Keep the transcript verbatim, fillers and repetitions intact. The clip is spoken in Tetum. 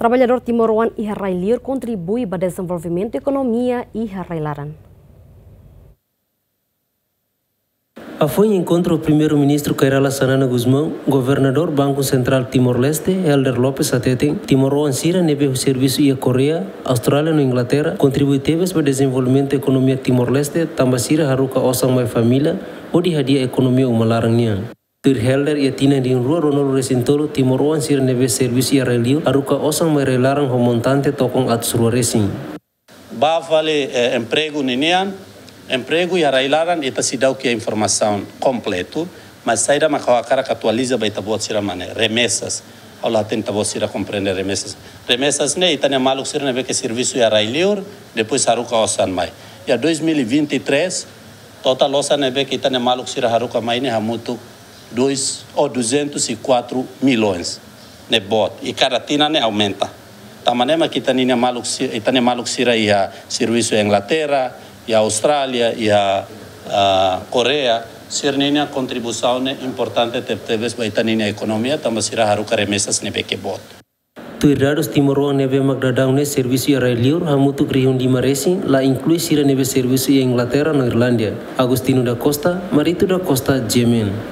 Traballadór timoroan iha rai-liur kontribui ba dezenvolvimentu ekonomia iha rai-laran. Hafoin enkontru Primeiru-Ministru Kay Rala Xanana Gusmão, Governadór Banku Sentrál Timor-Leste, Helder Lopes hateten, timoroan sira ne'ebé servisu iha Koreia, Austrália no Inglaterra, kontribui tebes ba dezenvolvimentu ekonomia Timor-Leste, tanba sira haruka osan mai família, hodi hadi'a ekonomia uma laran nian. Tuir Helder, iha tinan rihun rua ruanulu-resin-tolu, timoroan sira ne'ebé servisu iha rai-liur haruka osan mai rai-laran ho montante tokon atus rua resin. Ba fali, eh, empregu ninian, empregu iha rai-laran ita seidauk iha informasaun kompletu, mas saida mak ha'u hakarak atualiza ba ita-boot sira mak ne'e, remesas. Ha'u la hatene ita-boot sira komprende remesas. Remesas ne'e ita-nia maluk sira ne'ebé ke servisu iha rai-liur, depois haruka osan mai. Iha dois mil e vinte e três, totál osan ne'ebé ke ita-nia maluk sira haruka mai ne'e hamutuk dois ou duzentos e quatro milhões ne'e boot, i kada tinan ne'e aumenta. Tanba ne'e mak ita-nia maluk si-, ita-nia maluk sira iha servisu iha Inglaterra, iha Austrália, iha, ah, Koreia, sira-nia kontribuisaun ne'e importante tebetebes ba ita-nia ekonomia, tanba sira haruka remesas ne'ebé ke boot. Tuir dadus, timoroan ne'ebé mak daudaun ne'e servisu iha rai-liur hamutuk rihun lima resin, la inklui sira ne'ebé servisu iha Inglaterra no Irlandia. Agostinho da Costa, Marito da Costa, G M N.